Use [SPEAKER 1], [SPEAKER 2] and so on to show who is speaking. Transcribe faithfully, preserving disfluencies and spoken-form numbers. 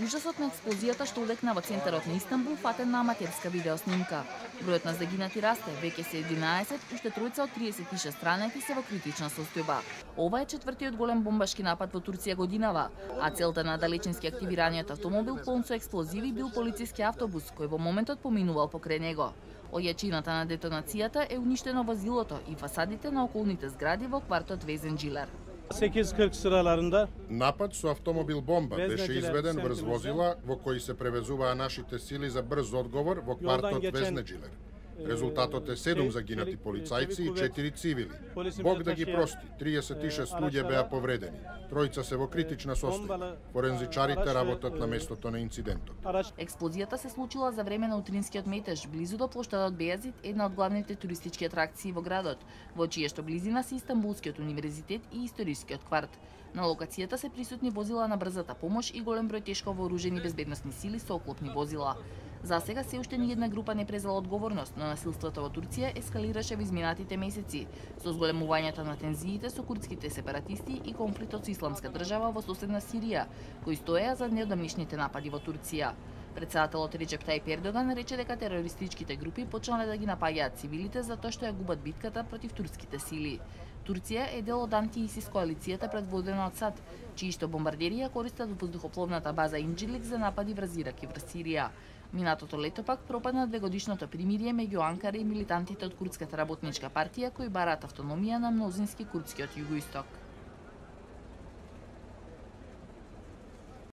[SPEAKER 1] Ужасот на експлозијата што одекна во центарот на Истанбул фатен на аматерска видеоснимка. Бројот на загинати расте, веќе се единаесет, уште тројца од триесет и шест ранети се во критична состојба. Ова е четвртиот голем бомбашки напад во Турција годинава, а целта на далечински активираниот автомобил полн со експлозиви бил полициски автобус кој во моментот поминувал покрај него. Од јачината на детонацијата е уништено возилото и фасадите на околните згради во квартот Везен Джилер.
[SPEAKER 2] sekiz kırk sıralarında
[SPEAKER 3] Напад со автомобил бомба беше изведен врз возила во кои се превезуваа нашите сили за брз одговор во квартот Везнеджилер. Резултатот е седум загинати полицајци и четири цивили. Бог да ги прости, триесет и шест луѓе беа повредени. Тројца се во критична состојба. Форензичарите работат на местото на инцидентот.
[SPEAKER 1] Експлозијата се случила за време на утринскиот метеж близу до плоштадот Бејазит, една од главните туристички атракции во градот, во чија што близина се Истанбулскиот универзитет и историскиот кварт. На локацијата се присутни возила на брзата помош и голем број тешко вооружени безбедносни сили со оклопни возила. За сега се уште ни една група не презела одговорност, но насилството во Турција ескалираше во изминатите месеци, со зголемувањето на тензиите со курдските сепаратисти и конфликтот со Исламска држава во соседна Сирија, кои стоеа за неодамнишните напади во Турција. Председателот Реджеп Тајип Ердоган рече дека терористичките групи почнале да ги напаѓаат цивилите затоа што ја губат битката против турските сили. Турција е дел од анти-ИСИС коалицијата предводена од САД, чии што бомбардери ја користат воздухопловната база Инџилик за напади врз Ирак и врз Сирија. Минатото лето пак пропадна двегодишното примирие меѓу Анкара и милитантите од Курдската работничка партија кои бараат автономија на мнозински курдскиот југоисток.